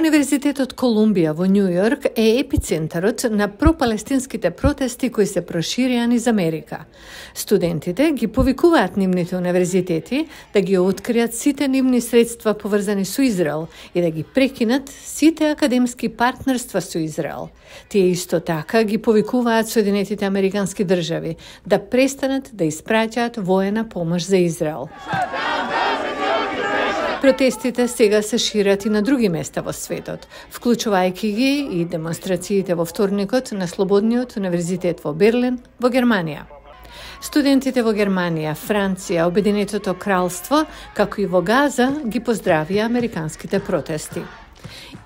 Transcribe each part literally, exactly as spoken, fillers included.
Универзитетот Колумбија во Њу Јорк е епицентарот на пропалестинските протести кои се проширија низ Америка. Студентите ги повикуваат нивните универзитети да ги откријат сите нивни средства поврзани со Израел и да ги прекинат сите академски партнерства со Израел. Тие исто така ги повикуваат Соединетите Американски држави да престанат да испраќаат воена помош за Израел. Протестите сега се шират и на други места во светот, вклучувајќи ги и демонстрациите во вторникот на Слободниот универзитет во Берлин, во Германија. Студентите во Германија, Франција, Обединетото кралство, како и во Газа, ги поздравија американските протести.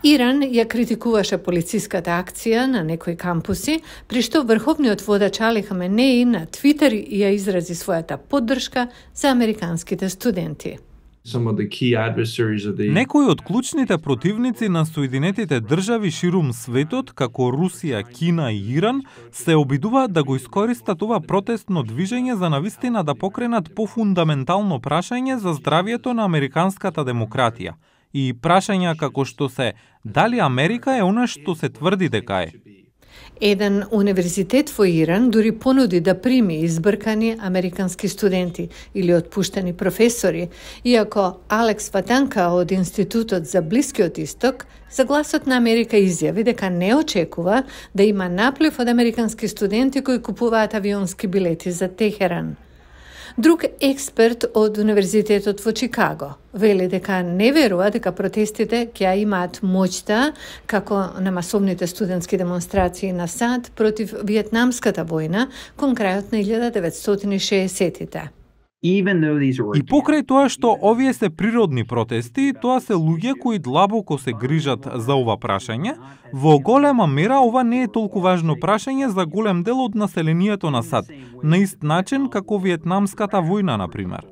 Иран ја критикуваше полициската акција на некои кампуси, при што врховниот водач Али Хаменеи на Твитер ја изрази својата поддршка за американските студенти. Некои од клучните противници на Соединетите држави ширум светот, како Русија, Кина и Иран, се обидуваат да го искористат ова протестно движење за навистина да покренат пофундаментално прашање за здравието на американската демократија и прашања како што се дали Америка е она што се тврди дека е. Еден универзитет во Иран дури понуди да прими избркани американски студенти или отпуштени професори, иако Алекс Ватанка од Институтот за Блискиот Исток за Гласот на Америка изјави дека не очекува да има наплив од американски студенти кои купуваат авионски билети за Техеран. Друг експерт од Универзитетот во Чикаго вели дека не верува дека протестите ќе имаат моќта како на масовните студентски демонстрации на САД против Виетнамската војна кон крајот на илјада деветстотини и шеесеттите. И покрај тоа што овие се природни протести, тоа се луѓе кои длабоко се грижат за ова прашање, во голема мера ова не е толку важно прашање за голем дел од населението на САД, на ист начин како Виетнамската војна, например.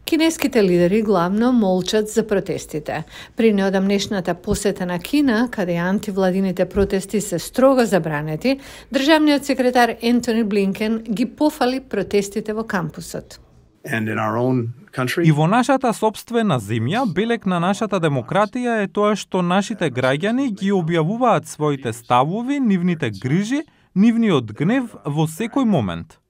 Кинеските лидери главно молчат за протестите. При неодамнешната посета на Кина, каде антивладините протести се строго забранети, државниот секретар Ентони Блинкен ги пофали протестите во кампусот. И во нашата сопствена земја, белег на нашата демократија е тоа што нашите граѓани ги објавуваат своите ставови, нивните грижи, нивниот гнев во секој момент.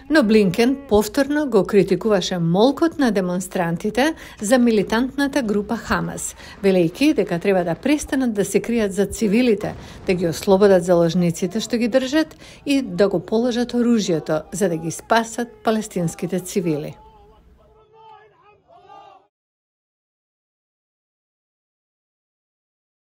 Но Блинкен повторно го критикуваше молкот на демонстрантите за милитантната група Хамас, велејќи дека треба да престанат да се кријат за цивилите, да ги ослободат заложниците што ги држат и да го положат оружјето за да ги спасат палестинските цивили.